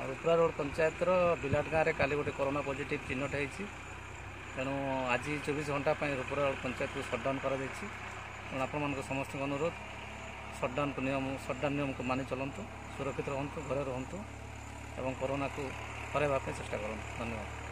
Rupra road ପଞ୍ଚାୟତର ବିଲାଟ ଗାଁରେ କାଲି ଗୋଟେ କରୋନା ପଜିଟିଭ୍ ଚିହ୍ନଟ ହେଇଛି। ତେଣୁ ଆଜି 24 ଘଣ୍ଟା ପାଇଁ ରୁପ୍ରା ରୋଡ଼ ପଞ୍ଚାୟତକୁ ସଟ୍ଡାଉନ୍ କରାଯାଇଛି। ତେଣୁ ଆପଣମାନଙ୍କ ସମସ୍ତଙ୍କୁ ଅନୁରୋଧ, ସଟ୍ଡାଉନ୍କୁ ନିୟମ ସଟ୍ଡାଉନ୍ ନିୟମକୁ ମାନି ଚଲନ୍ତୁ, ସୁରକ୍ଷିତ ରୁହନ୍ତୁ, ଘରେ ରୁହନ୍ତୁ ଏବଂ କରୋନାକୁ ହରାଇବା ପାଇଁ ଚେଷ୍ଟା କରନ୍ତୁ। ଧନ୍ୟବାଦ।